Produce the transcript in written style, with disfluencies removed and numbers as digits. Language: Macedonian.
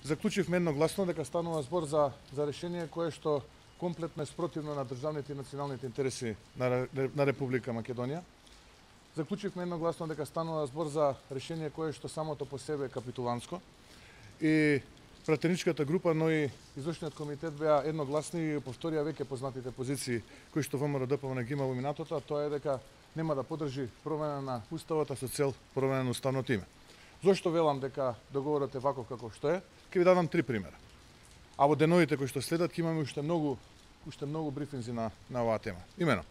заклучивме едногласно дека станува збор за решение кое што комплетно е спротивно на државните и националните интереси на Република Македонија. Заклучивме едногласно дека станува збор за решение кое што самото по себе е капитуланско и пратеничката група, но и извршниот комитет беа едногласни и повторија веќе познатите позиции кои што ВМРО-ДПМНЕ ги има во минатото, а тоа е дека нема да поддржи промена на уставот со цел промена на уставното име. Зошто велам дека договорот е ваков како што е? Ќе ви дадам 3 примера. А во деновите кои што следат ќе имаме уште многу брифинзи на оваа тема. Имено,